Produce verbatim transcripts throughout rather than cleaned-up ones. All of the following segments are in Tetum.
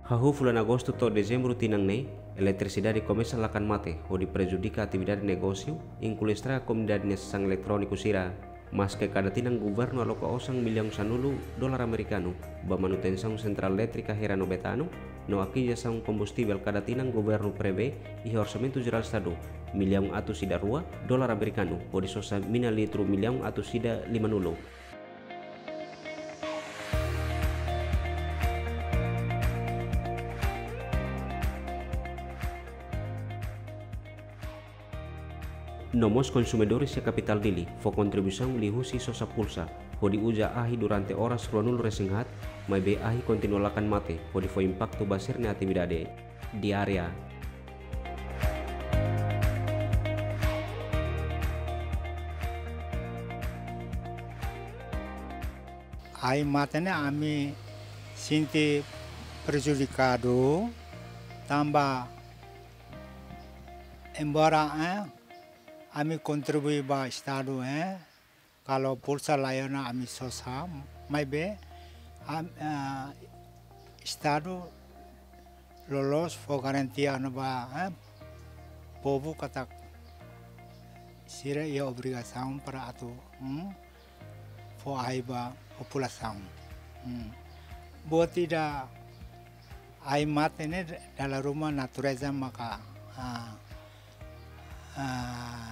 Hahú fulan Agostu to'o Dezembru tinan ne'e, eletrisidade komesa lakan mate, hodi prejudika atividade negósiu, inklui estraga komunidade nia sasán eletróniku sira. Maske kada tinan governu aloka osan millaun sanulu dolar amerikanu ba manutensaun sentrál elétrika Herano Betano, no akizisaun kombustivel kada tinan governu prevee iha Orsamentu Jerál Estadu millaun atus ida rua dolar amerikanu, hodi sosa mina litru millaun atus ida limanulu. No mós konsumidores iha kapitál Dili fó kontribuisaun liuhusi sosa pulsa, hodi uza ahi durante oras ruanulu resin haat, maibé ahi kontinua lakan mate, hodi fó impaktu ba sira-nia atividade diária. Ahi mate ne'e ami sente prejudikadu, tanba embora, eh, ami kontribui ba Estadu, eh, kalau pulsa laiha ona ami sosa, maibé, am-, eh, Estadu loloos fó garantia ona ba, eh, povu katak sira iha obrigasaun para atu, hmm, fó ahi ba populasaun. Hmm. Buat ida ahi mate ne'e dala ruma natureza maka, ah, ah,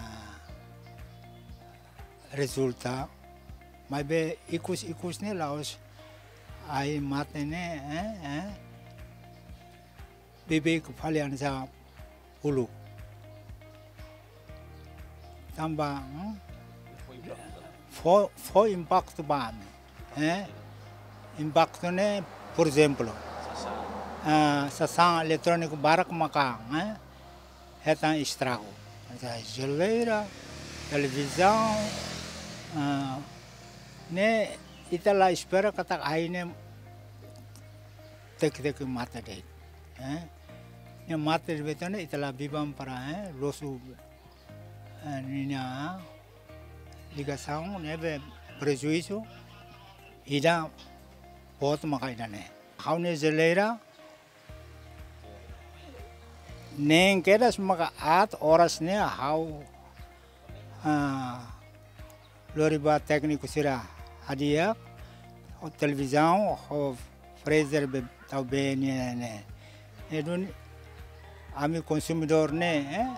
rezulta, maibé ikus-ikus ne'e la'ós ahi mate ne'e, eh, eh, beibeik fali hanesan uluk. Tanba, hmm? Fó, fó impaktu ba ami, eh? Impaktu ne'e, por ezemplu, ah, sasán eletróniku barak maka, eh? Hetan estragu. Hanesan jeleira, televizaun, ah, ne'e ita la espera katak ahi ne'e tek-tek mate de'it, eh? Ne'e mate de'it, ita la biban para, eh, losu, eh, ninia ligasaun ne'ebé prejuízu ida boot maka ida-ne'e. Ha'u-nia jeleira neen kedas maka aat, oras ne'e ha'u, ah, lori ba tékniku sira hadi'a, ho televizaun, ho freezer be tau bee nian ne'e. Ne'e duni ami konsumidór ne'e, eh,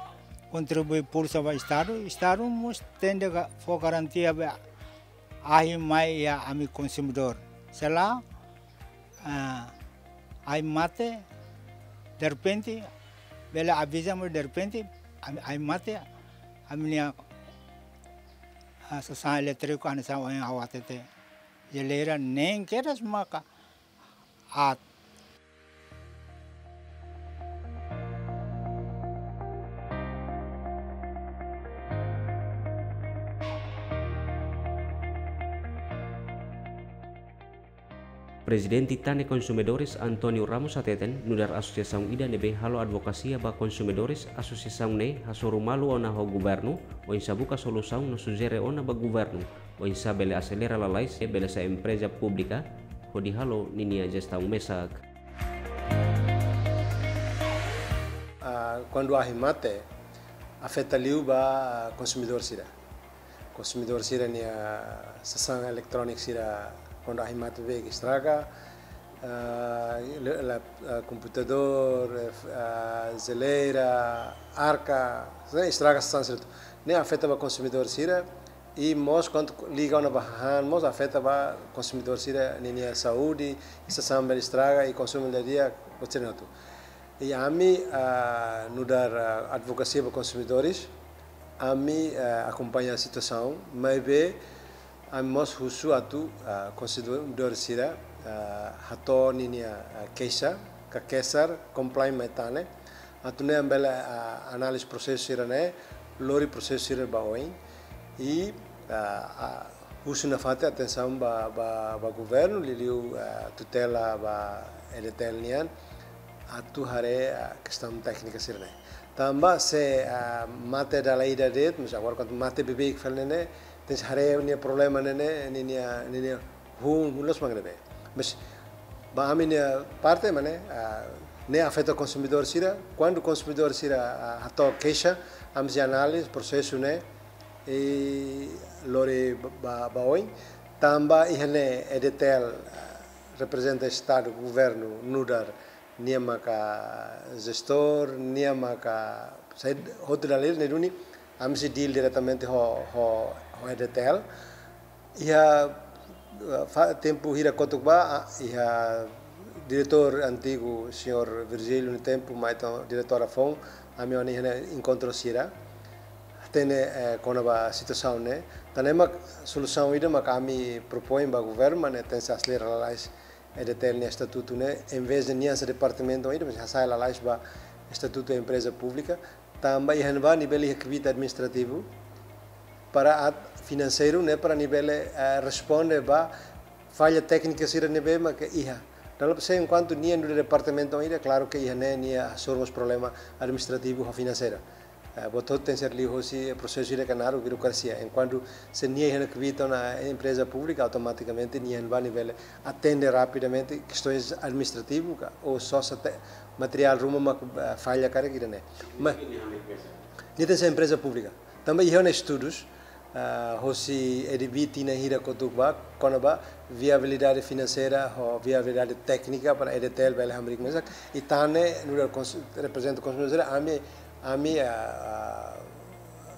kontribui pulsa ba Estadu, Estadu mós tenke ga-, fó garantia be ahi mai iha ami konsumidór. Se lae, ah, ahi mate derrepente, bele aviza mós derrepente, ahi, ahi mate, ami-nia, ah, sasán elétriku hanesan ohin ha'u hatete. Jeleira neen kedas maka aat. Prezidente Tane Konsumidores António Ramos hateten, nu'udar asosiasaun ida ne'ebé halo advokasia ba konsumidores, asosiasaun ne'e hasoru malu ona ho governu, oinsá buka solusaun no sujere ona ba governu, oinsá bele aselera lalais, bele sai empreza públika, hodi halo ninia jestaun mesak. Ah, kuandu ahi mate, afeta liu ba konsumidór sira. Konsumidór sira-nia sasán eletróniku sira kuandu ahi mate beibeik estraga, ah, le-, la-, ah, komputadór, eh, f-, ah, jeleira, arka, sira estraga sasán sira hotu. Ne'e afeta ba konsumidór sira, i mós kuandu liga ona ba hahán, mós afeta ba konsumidór sira ninia saúde, i sasán bele estraga, i konsumu di'ak, buat sira-ne'e hotu. I ami, ah, nu'udar, ah, advokasia ba konsumidores, ami, ah, akompaña situasaun, maibé ami mós husu atu, ah, konsumidór sira, ah, hato'o ninia, ah, keixa, ka kesar, komplain mai Tane, atu nune'e ami bele, ah, analiza prosesu sira-ne'e, lori prosesu sira ba oin, i, ah, ah, husu nafatin atensaun ba, ba, ba governu, liuliu, ah, tutela ba EDTL nian, atu haree, ah, kestaun téknika sira-ne'e. Tanba se, ah, mate dala ida de'it, mas agora kuandu mate beibeik fali ne'e, tenke haree nia problema ne'e, ne'e, ninia, ninia hun, hun loos mak ne'ebé. Mas Ba ami-nia parte, maun, ah, ne'e afeta konsumidór sira. Kuandu konsumidór sira, ah, hato'o keixa, ami sei analiza prosesu ne'e, i lori ba, ba, ba oin, tanba iha ne'e EDTL, ah, reprezenta Estadu, governu, nu'udar nia maka jestór, nia maka saida hotu dala ida ne'e duni, ami sei deal diretamente ho, ho, ho EDTL. Iha, eh, fa-, tempu hira kotuk ba, ah, iha diretór antigu, señór Virgílio, no tempu, mai entaun diretór foun, ami ona iha ne'e enkontru sira. Hatene, eh, kona-ba situasaun ne'e. Tan ne'e mak solusaun ida mak ami propoin ba governu, maun, ne'e tenke aselera lalais EDTL nia estatutu ne'e, em vez de nian sai departamentu ida, mas hasai lalais ba estatutu empreza públika, tanba iha ne'ebá nia bele iha kbiit administrativu para atu finanseiru ne'e para nia bele, eh, responde ba falla téknika sira ne'ebé maka iha. Dala ruma se enkuantu nia nu'udar departamentu ida, klaru ke iha ne'e nia hasoru mós problema administrativu ho finanseira. Eh, buat hotu tenke ser liu hosi prosesu ida ke naruk birokrasia. Enkuantu se nia iha ne'e kbiit ona empreza públika, automatikamente nia iha ne'ebá nia bele atende rapidamente kestoens administrativu ka, ou só se te-, materiál ruma mak, eh, falla karik ida-ne'e. Ma, nia tenke ser empreza públika. Tanba iha ona estudus, ah, hosi ADB tinan hira kotuk ba, kona-ba viabilidade finanseira, ho viabilidade téknika para EDTL bele hamriik mesak. I tan ne'e, nu'udar kons-, reprezenta konsumidór sira, ami, ami, ah, ah,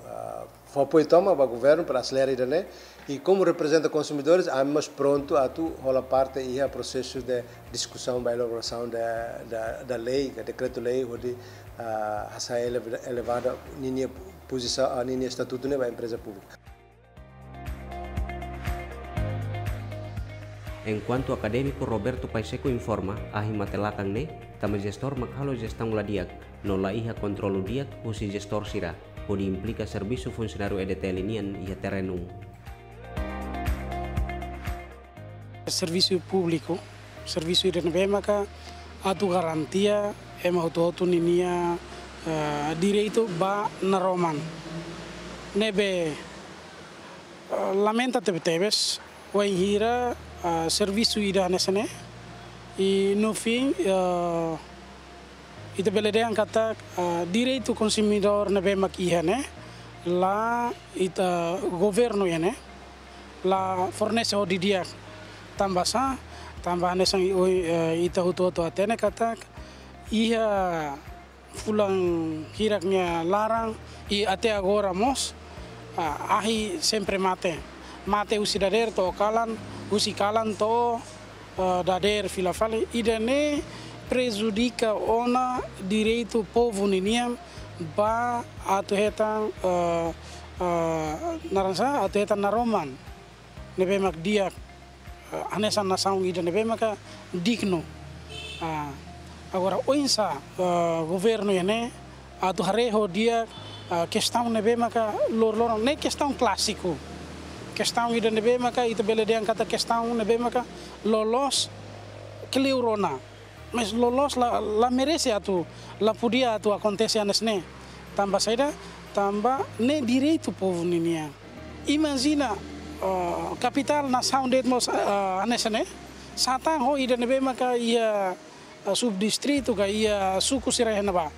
ah, fó apoiu tomak ba governu para aselera ida-ne'e. I komu reprezenta konsumidores, ami mós prontu atu hola parte iha prosesu de diskusaun ba elaborasaun da, da, da lei, ka dekretu-lei, hodi, ah, hasai eleva-, elevada ninia pozisaun, ah, ninia estatutu ne'e ba empreza públika. Enkuantu akadémiku Roberto Pacheco informa, ahi mate lakan ne'e, tanba jestór mak halo jestaun la di'ak, no la iha kontrolu di'ak husi jestór sira, hodi implika servisu funsionáriu EDTL nian iha terrenu. Servisu públiku, servisu ida ne'ebé maka atu garantia ema hotu-hotu ninia, eh, direitu ba naroman. Ne'ebé, eh, lamenta tebetebes, wainhira, eh, servisu ida hanesan ne'e, i no fim, eh, ita bele dehan katak, eh, direitu konsumidór ne'ebé mak iha ne'e, la ita governu iha ne'e, la fornese ho didi'ak. Tanba sá, tanba hanesan, eh, ita hotu-hotu hatene katak, iha fulan hirak nia laran, i até agora mós, ah, ahi sempre mate. Mate husi dadeer to'o kalan, husi kalan to'o, eh, dadeer fila fali. Ida-ne'e prejudika ona direitu povu ninian ba atu hetan, eh, eh, naran sá, atu hetan naroman ne'ebé mak di'ak, eh, hanesan nasaun ida ne'ebé maka dignu. Ah, agora, oinsá, eh, governu iha ne'e atu haree ho di'ak, eh, kestaun ne'ebé maka lor-loron, ne'e kestaun klásiku. Kestaun ida ne'ebé maka ita bele dehan katak kestaun ne'ebé maka loloos kleur ona. Mas loloos la, la merese atu, la podia atu akontese hanesan ne'e. Tanba saida, tanba ne'e direitu povu ninian. Imajina, eh, kapitál nasaun de'it mós, eh, hanesan ne'e, sá tan ho ida ne'ebé maka iha, eh, subdistritu ka iha suku sira iha ne'ebá.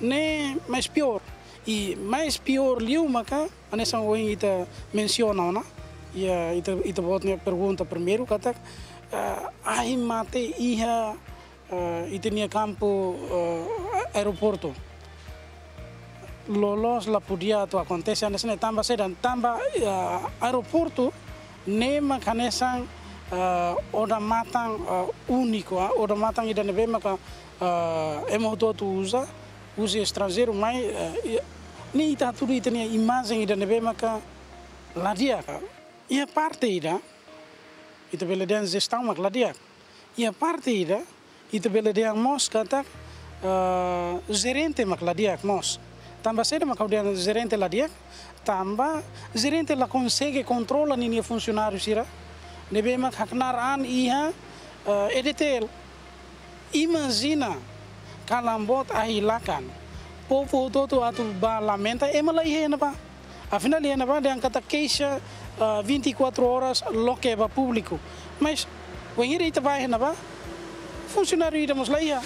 Ne'e mais piór. I mais piór liu maka, hanesan ohin ita mensiona ona, iha ita, ita-boot nia pergunta primeiru katak, eh, ahi mate iha, eh, ita-nia kampu, eh, aeroportu. Loloos la podia atu akontese hanesan ne'e tanba saida, tanba, eh, aeroportu ne'e mak hanesan, eh, odamatan, eh, úniku, ah, odamatan ida ne'ebé maka, eh, ema hotu-hotu uza, husi estranjeiru mai, eh, i, ne'e ita hatudu ita-nia imajen ida ne'ebé maka la di'ak. Iha parte ida, ita bele dehan jestaun mak la di'ak. Iha parte ida, ita bele dehan mós katak, eh, jerente mak la di'ak mós. Tanba saida mak ha'u dehan jerente la di'ak? Tanba jerente la konsege kontrola ninia funsionáriu sira ne'ebé mak haknaar an iha, eh, EDTL. Imajina, kalan boot ahi lakan, povu hotu-hotu atu bá lamenta, ema la iha iha ne'ebá. Afinál, iha ne'ebá dehan katak keixa, ah, vinte e quatro horas loke ba públiku. Mas, wainhira ita bá iha ne'ebá, Funsionáriu ida mós la iha.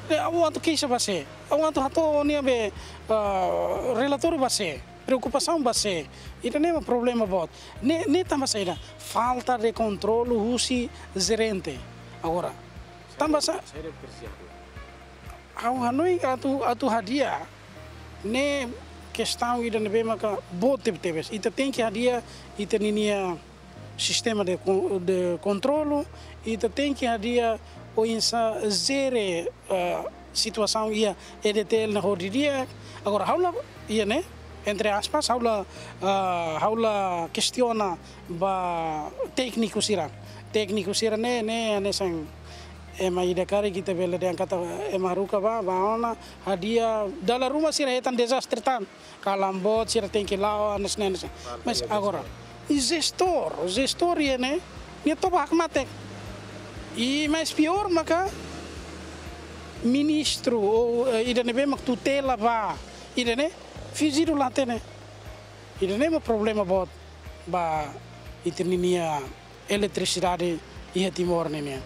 Ne'e, ha'u atu keixa ba sé? Ha'u atu hato'o nia be, ah, relatóriu ba sé? Preokupasaun ba sé? Ida-ne'e mak problema boot. Ne'e, ne'e tanba saida? Falta de kontrolu husi jerente. Agora, tanba sa-, ha'u hanoin atu, atu hadi'a ne'e kestaun ida ne'ebé maka boot tebetebes. Ita tenke hadi'a ita-ninia sistema de kon-, de kontrolu, ita tenke hadi'a oinsá jere, eh, situasaun iha E D T L nia hodi di'ak. Agora, ha'u la, iha ne'e, entre aspas, ha'u la, eh, ha'u la kestiona ba tékniku sira. Tékniku sira ne'e, ne'e, hanesan ema ida karik ita bele dehan katak ema haruka ba, ba ona, hadi'a, dala ruma sira hetan dezastre tan. Kalan boot sira tenke la'o, hanesan ne'e, hanesan ne'e. Mas agora, i jestór, jestór iha ne'e, nia toba hakmatek. I mais piór maka ministru, ou, eh, ida ne'ebé mak tutela ba ida-ne'e, finjidu la hatene. Ida-ne'e mak problema boot ba ita-ninia eletrisidade iha Timor ninian.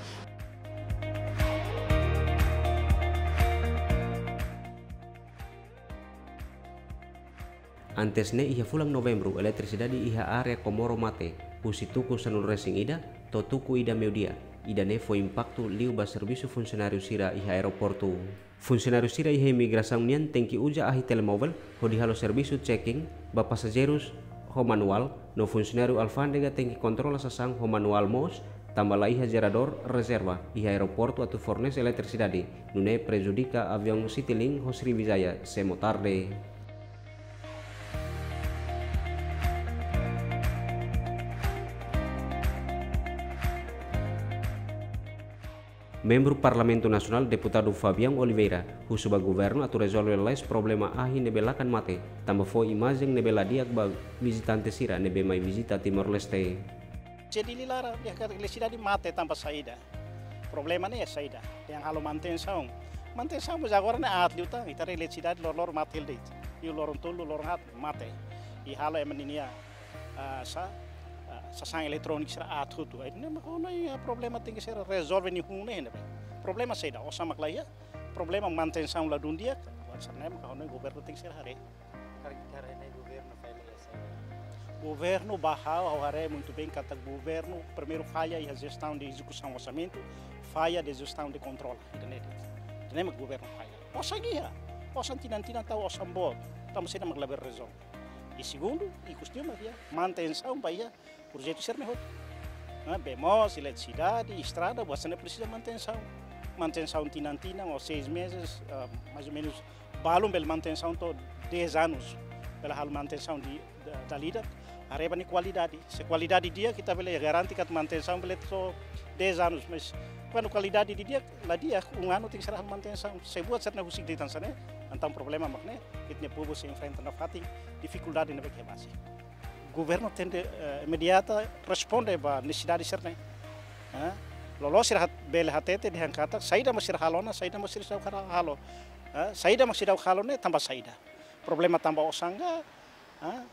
Antes ne'e, iha fulan Novembru, eletrisidade iha área Comoro mate, husi tuku sanulu-resin-ida to'o tuku ida meiudia. Ida-ne'e fó impaktu liu ba servisu funsionáriu sira iha aeroportu. Funsionáriu sira iha imigrasaun nian tenke uza ahi telemovel hodi halo servisu checking ba pasajeirus ho manuál, no funsionáriu alfándega tenke kontrola sasán ho manuál mós, tanba la iha jeradór rezerva iha aeroportu atu fornese eletrisidade, nune'e prejudika aviaun Citilink ho Sriwijaya sei mó tarde. Membru Parlamentu Nasionál, Deputadu Fabian Oliveira, husu ba governu atu rezolve lalais problema ahi ne'ebé lakan mate, tanba fó imajen ne'ebé la di'ak ba vizitante sira ne'ebé mai vizita Timor-Leste. Jadi, liu laran, iha katak eletrisidade mate tanba saida? Problema ne'e saida? Dehan halo manutensaun. Manutensaun, mas agora ne'e aat liután, ita haree eletrisidade loroloron mate hela de'it. Liu loron tolu, loron haat, mate. I halo ema ninia, ah, sa-, ah, sasán eletróniku sira aat hotu. Ai, ne'e mak ha'u hanoin, ah, problema tenke ser rezolve nia hun ne'e, ne'ebé. Problema saida? Osan mak la iha. Problema manutensaun la dún di'ak. Buat sira-ne'e mak ha'u hanoin governu tenke ser haree. Karik ita haree ne'e governu falla iha saida? Governu ba ha'u, ha'u haree muito bem katak governu primeiru falla iha jestaun de ezekusaun orsamentu, falla de jestaun de kontrola. Ida-ne'e de'it. Ida-ne'e mak governu falla. Osan iha. Osan tinan-tinan tau osan boot. Tanba saida mak labele rezolve? I segundu, ikus liu mak iha manutensaun ba iha projetu sira-ne'e hotu. Ah, bee moos, eletrisidade, estrada, buat sira-ne'e presiza manutensaun. Manutensaun tinan-tinan ou seis meses, ah, mais ou menos, balun bele manutensaun to'o dez anos. Bele halo manutensaun di, da, dala ida, haree ba nia kualidade. Se kualidade di'ak, ita bele garante katak manutensaun bele to'o dez anos, mas kuandu kualidade di'ak, la di'ak, um ano tenke ser halo manutensaun. Se buat sira-ne'e husik de'it hanesan ne'e, entaun problema mak ne'e, ita-nia povu sei enfrenta nafatin difikuldade ne'ebé ke basi. Governu tenke, eh, imediata responde ba nesesidade sira-ne'e. Eh, loloos sira hat-, bele hatete dehan katak, saida mak sira halo ona, saida mak sira seidauk halo. Eh, saida mak seidauk halo ne'e tanba saida? Problema tanba osan ka, eh,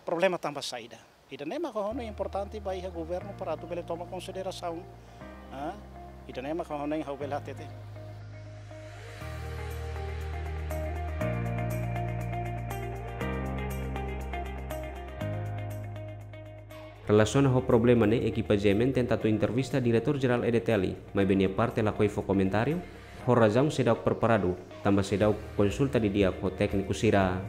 problema tanba saida? Ida-ne'e mak ha'u hanoin importante ba iha governu para atu bele toma konsiderasaun. Ah, ida-ne'e mak ha'u hanoin ha'u bele hatete. Relasiona ho problema ne'e, ekipa G M N tenta atu entrevista Diretór Jerál E D T L, maibé nia parte lakohi fó komentáriu, ho razaun seidauk preparadu, tanba seidauk konsulta didi'ak ho tékniku sira.